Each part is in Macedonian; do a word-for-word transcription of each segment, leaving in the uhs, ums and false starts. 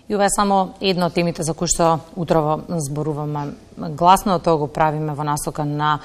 И ова е само една од темите за кои што утрово зборуваме. Гласно тоа го правиме во насока на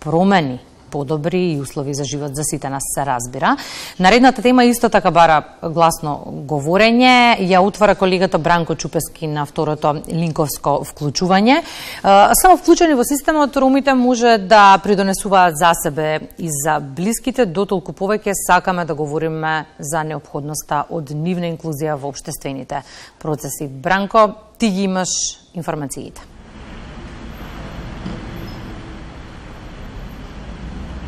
промени, подобри и услови за живот за сите нас, се разбира. Наредната тема исто така бара гласно говорење. Ја утвара колегата Бранко Чупески на второто линковско вклучување. Само вклучени во системот, ромите може да придонесуваат за себе и за блиските, дотолку повеќе сакаме да говориме за неопходноста од нивна инклузија во општествените процеси. Бранко, ти ги имаш информациите.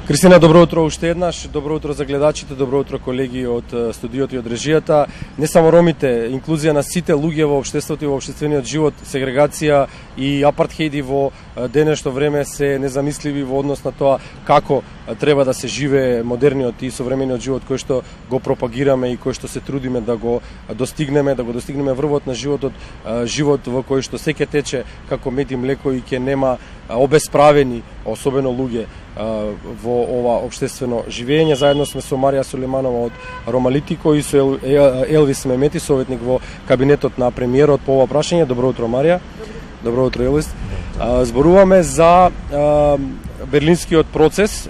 Кристина, добро утро уште еднаш. Добро утро за гледачите, добро утро колеги од студиото и од режијата. Не само ромите, инклузија на сите луѓе во општеството и во општествениот живот, сегрегација и апартхејди во денешно време се незамисливи во однос на тоа како треба да се живее модерниот и современиот живот кој што го пропагираме и кој што се трудиме да го достигнеме, да го достигнеме врвот на животот, живот во кој што секе тече како мед и млеко и ќе нема обесправени, особено луѓе во ова општествено живење. Заедно сме со Марија Сулейманова од Ромалитико и со Елвис Мемети, советник во кабинетот на премиерот по ова прашање. Добро утро, Марија. Добро утро, Елвис. Зборуваме за берлинскиот процес.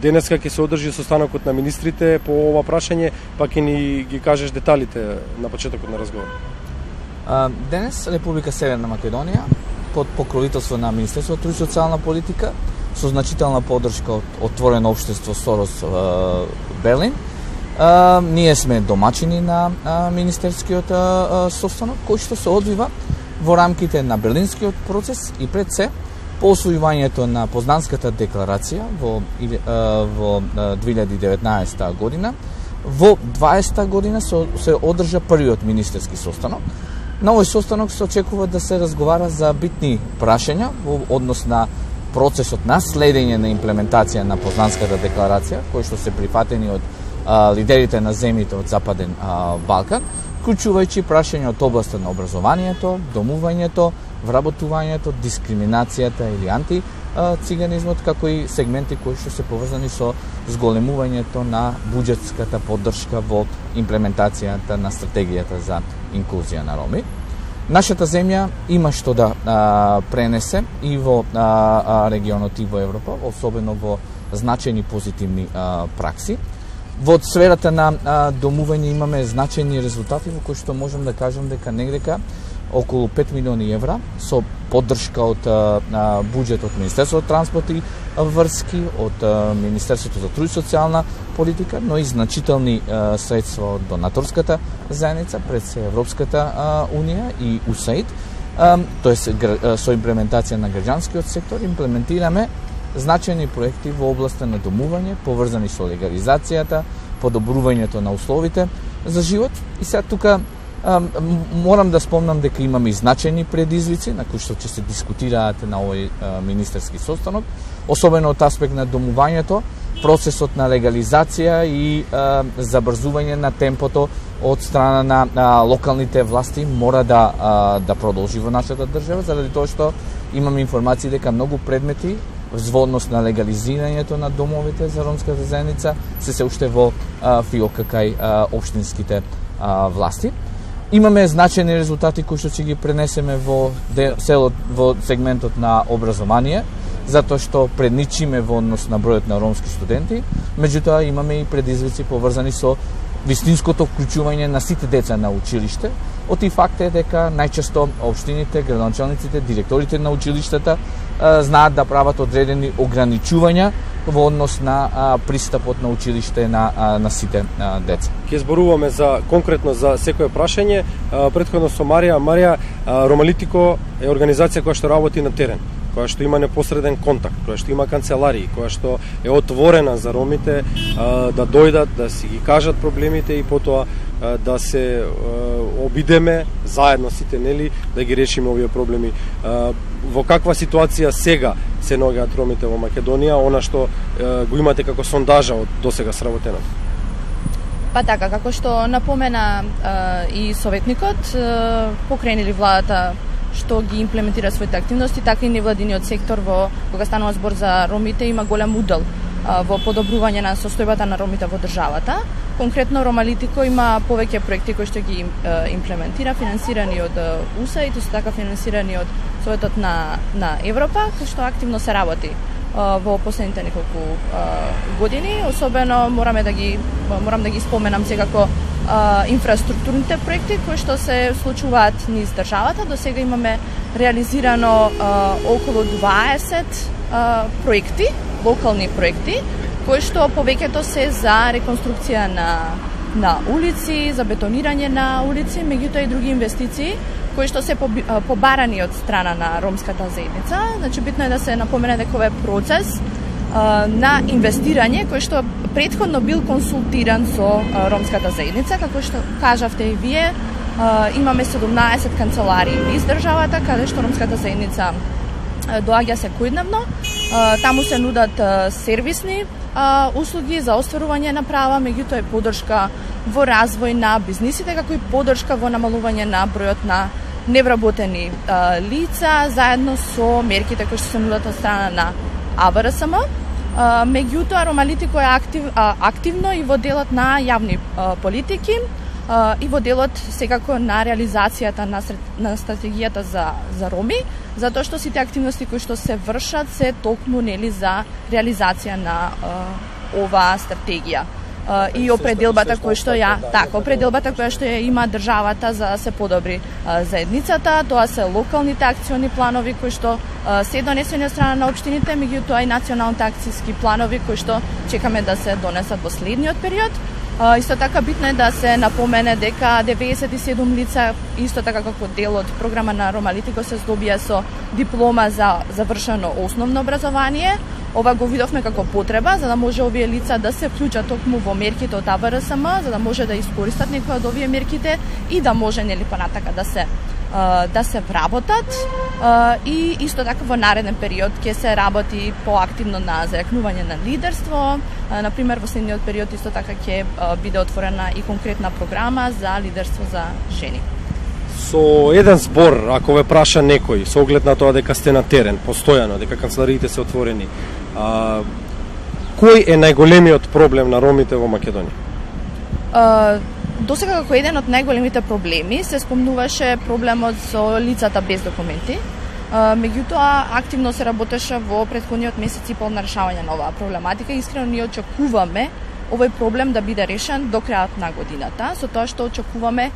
Денеска ќе се одржи состанокот на министрите по ова прашање, па ќе ни ги кажеш деталите на почетокот на разговор. Денес Република Северна Македонија под покровителство на Министерството труд и социјална политика со значителна поддршка од Отворено општество Сорос Берлин. А, ние сме домачини на а, министерскиот а, состанок кој што се одвива во рамките на Берлинскиот процес и пред се по освојувањето на Познанската декларација во, а, во две илјади и деветнаесета година. Во дваесета година се, се одржа првиот министерски состанок. На овој состанок се очекува да се разговара за битни прашања во однос на процесот на следење на имплементација на Познанската декларација, кои што се прифатени од а, лидерите на земјите од Западен а, Балкан, вклучувајќи прашања од областа на образованието, домувањето, вработувањето, дискриминацијата или антициганизмот, како и сегменти кои што се поврзани со зголемувањето на буџетската поддршка во имплементацијата на стратегијата за инклузија на роми. Нашата земја има што да а, пренесе и во а, регионот и во Европа, особено во значајни позитивни а, пракси. Во сферата на а, домување имаме значајни резултати во кои што можам да кажам дека негдека околу пет милиони евра со поддршка од а, буџет од Министерството транспорт и врски, од а, Министерството за труд и социјална политика, но и значителни а, средства од донаторската заедница, пред се Европската а, унија и УСАИД, тоест со имплементација на граѓанскиот сектор, имплементираме значајни проекти во областа на домување, поврзани со легализацијата, подобрувањето на условите за живот. И сега тука а, морам да спомнам дека имаме и значајни предизвици на кои што ќе се дискутираат на овој а, министерски состанок, особено од аспект на домувањето, процесот на легализација и а, забрзување на темпото од страна на, на локалните власти мора да а, да продолжи во нашата држава, заради тоа што имаме информации дека многу предмети во однос на легализирањето на домовите за ромската заедница се се уште во а, фиока кај а, општинските а, власти. Имаме значајни резултати кои што ќе ги пренесеме во селот, во сегментот на образование, затоа што предничиме во однос на бројот на ромски студенти, меѓутоа имаме и предизвици поврзани со вистинското вклучување на сите деца на училиште. Од и факт е дека најчесто општините, градоначалниците, директорите на училиштата а, знаат да прават одредени ограничувања во однос на а, пристапот на училиште на, а, на сите а, деца. Ке зборуваме за конкретно за секое прашање. А, претходно со Марија, Марија, а, Ромалитико е организација која што работи на терен, која што има непосреден контакт, која што има канцеларии, која што е отворена за ромите а, да дојдат, да си ги кажат проблемите и потоа а, да се а, обидеме заедно сите, нели, да ги решиме овие проблеми. А, во каква ситуација сега се наоѓаат ромите во Македонија, она што а, го имате како сондажа од досега сработено? Па така, како што напомена а, и советникот, а, покренили владата што ги имплементира своите активности, така и невладиниот сектор во кога станува збор за ромите има голем удел во подобрување на состојбата на ромите во државата. Конкретно Ромалитико има повеќе проекти кои што ги имплементира, финансирани од У С А и исто така финансирани од Советот на на Европа, кој што активно се работи во последните неколку години. Особено мораме да ги морам да ги споменам секако инфраструктурните проекти кои што се случуваат низ државата. До сега имаме реализирано околу дваесет проекти, локални проекти, кои што повеќето се за реконструкција на на улици, за бетонирање на улици, меѓутоа и други инвестиции кои што се побарани од страна на ромската заедница. Значи битно е да се напомене дека овој процес а, на инвестирање кој што претходно бил консултиран со а, ромската заедница, како што кажавте и вие, а, имаме седумнаесет канцеларии низ државата каде што ромската заедница а, доаѓа секојдневно. А, таму се нудат а, сервисни а, услуги за остварување на права, меѓутоа и поддршка во развој на бизнисите, како и поддршка во намалување на бројот на невработени а, лица, заедно со мерките кои што се нудат од страна на А В Р С М. А, меѓутоа, Ромалитико е актив, а, активно и во делот на јавни а, политики а, и во делот секако на реализацијата на, на стратегијата за, за роми, затоа што сите активности кои што се вршат се токму нели за реализација на а, оваа стратегија. Uh, и определбата која што ја така определбата која што ја има државата за да се подобри uh, заедницата. Тоа се локалните акциони планови кои што uh, се донесени од страна на општините, меѓутоа и националните акциски планови кои што чекаме да се донесат во следниот период. Uh, исто така битно е да се напомене дека деветдесет и седум лица, исто така како дел од програма на Ромалитико, се здобија со диплома за завршено основно образование. Ова го видовме како потреба, за да може овие лица да се вклучат токму во мерките од А В Р С М, за да може да искористат некои од овие мерките и да може нели понатака да се да се вработат. И исто така во нареден период ќе се работи поактивно на зајакнување на лидерство. На пример, во следниот период исто така ќе биде отворена и конкретна програма за лидерство за жени. Со еден збор, ако ве праша некој, со оглед на тоа дека сте на терен, постојано, дека канцелариите се отворени, а, кој е најголемиот проблем на ромите во Македонија? А, досега како еден од најголемите проблеми се спомнуваше проблемот со лицата без документи. А, меѓутоа, активно се работеше во претходниот месец и пол на решавање на оваа проблематика. Искрено ние очекуваме овој проблем да биде решен до крајот на годината, со тоа што очекуваме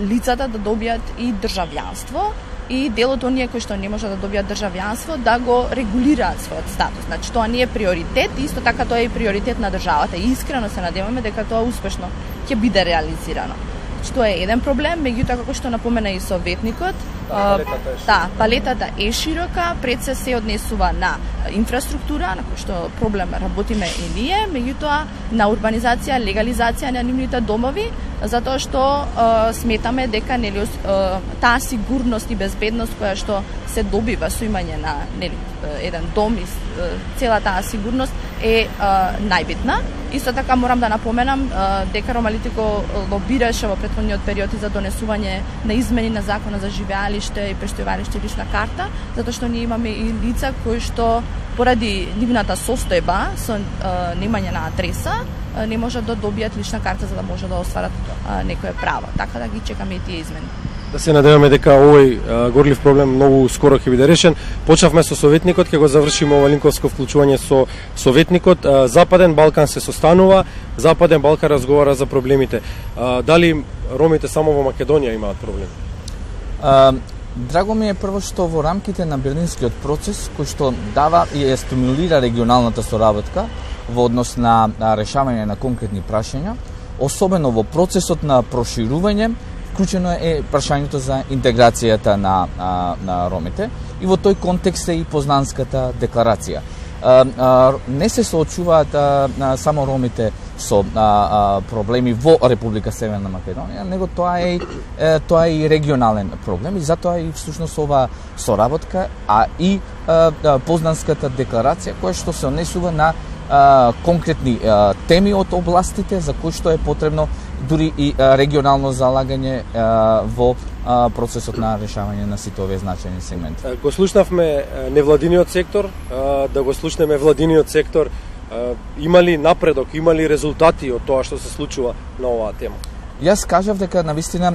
лицата да добијат и државјанство и делот оние кои што не можат да добијат државјанство да го регулираат својот статус. Значи тоа не е приоритет, исто така тоа е и приоритет на државата и искрено се надеваме дека тоа успешно ќе биде реализирано. Значи тоа е еден проблем, меѓутоа како што напомена и советникот, палетата е, да, палетата е широка, пред се се однесува на инфраструктура, на кој што проблем работиме и ние, меѓутоа на урбанизација, легализација на нивните домови, затоа што е, сметаме дека нели е, таа сигурност и безбедност која што се добива со имање на нели еден дом и е, цела таа сигурност е, е најбитна. Исто така морам да напоменам е, дека Ромалитико лобираше во претходниот период и за донесување на измени на Законот за живеалиште и престојувалиште лична карта, затоа што ние имаме и лица кои што поради нивната состојба со е, немање на адреса не можат да добијат лична карта за да може да остварат а, некое право. Така да ги чекаме и тие измени. Да се надеваме дека овој а, горлив проблем многу скоро ќе биде решен. Почнавме со советникот, ќе го завршиме ова линковско вклучување со советникот. А, Западен Балкан се состанува, Западен Балкан разговара за проблемите. А, дали ромите само во Македонија имаат проблеми? А, драго ми е прво што во рамките на Берлинскиот процес, кој што дава и е стимулира регионалната соработка во однос на, на решавање на конкретни прашања, особено во процесот на проширување, вклучено е прашањето за интеграцијата на, на, на ромите и во тој контекст е и Познанската декларација. А, а, не се соочуваат а, а, само ромите со а, а, проблеми во Република Северна Македонија, него тоа е, е тоа е и регионален проблем и затоа и всушност ова соработка, а и а, а, Познанската декларација која што се однесува на а, конкретни а, теми од областите за кои што е потребно дури и а, регионално залагање а, во а, процесот на решавање на сите овие значајни сегменти. Го слушнавме невладиниот сектор, а, да го слушнеме владиниот сектор. Има ли напредок, има ли резултати од тоа што се случува на оваа тема? Јас кажав дека навистина,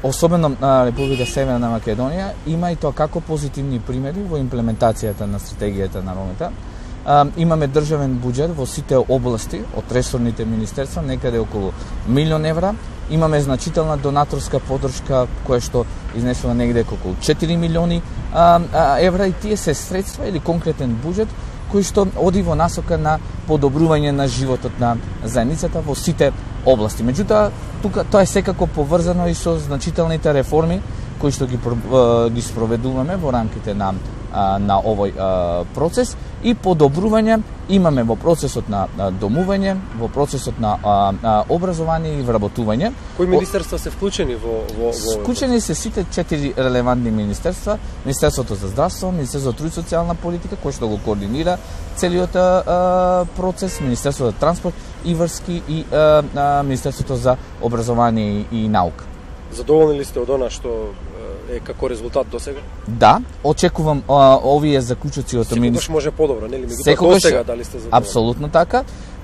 особено на Република Северна Македонија, има и тоа како позитивни примери во имплементацијата на стратегијата на ромите. Имаме државен буџет во сите области од ресорните министерства, некаде околу милион евра. Имаме значителна донаторска подршка која што изнесува негде околу четири милиони евра, и тие се средства или конкретен буџет кој што оди во насока на подобрување на животот на заедницата во сите области. Меѓутоа, тука тоа е секако поврзано и со значителните реформи кои што ги ги спроведуваме во рамките на на овој процес, и подобрување имаме во процесот на домување, во процесот на образование и вработување. Кои министерства се вклучени во во во Вклучени се сите четири релевантни министерства: Министерството за здравство, Министерството за труд и социјална политика, кој што го координира целиот процес, Министерството за транспорт и врски и Министерството за образование и наука. Задоволни ли сте од она што е како резултат до сега? Да, очекувам а, овие заклучоци од министерството. Секогаш може подобро, нели? Меѓутоа до сега дали сте задоволни? Апсолутно така.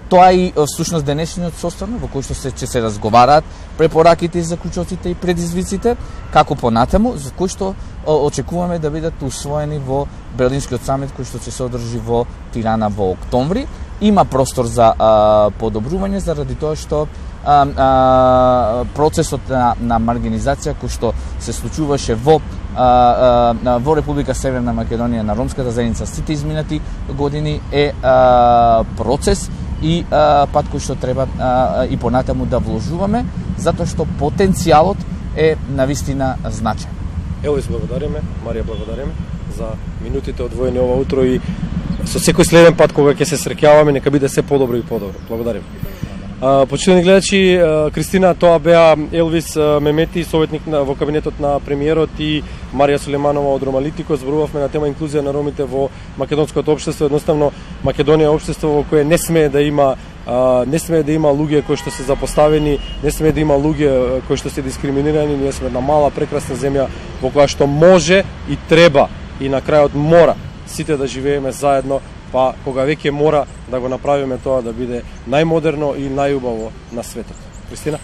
Тоа и всушност денешниот состав во кој што се ќе се разговараат препораките и заклучоците и предизвиците, како понатаму, за кој што очекуваме да бидат усвоени во Берлинскиот самит кој што ќе се одржи во Тирана во октомври. Има простор за а, подобрување заради тоа што а, а, процесот на, на маргинизација кој што се случуваше во а, а, во Република Северна Македонија на ромската заедница сите изминати години е а, процес и а, пат кој што треба а, и понатаму да вложуваме, затоа што потенцијалот е навистина значаен. Елвис, благодариме, Марија, благодариме за минутите одвоени ова утро, и со секој следен пат кога ќе се среќаваме нека биде се подобро и подобро. Благодарим. Почитувани гледачи, Кристина, тоа беа Елвис Мемети, советник во кабинетот на премиерот, и Марија Сулеманова од Ромалитико. Зборувавме на тема инклузија на ромите во македонското општество. Едноставно Македонија е општество во кое не смее да има не смее да има луѓе кои што се запоставени, не смее да има луѓе кои што се дискриминирани. Ние сме една мала прекрасна земја во која што може и треба и на крајот мора сите да живееме заедно, па кога веќе мора да го направиме тоа да биде најмодерно и најубаво на светот. Кристина?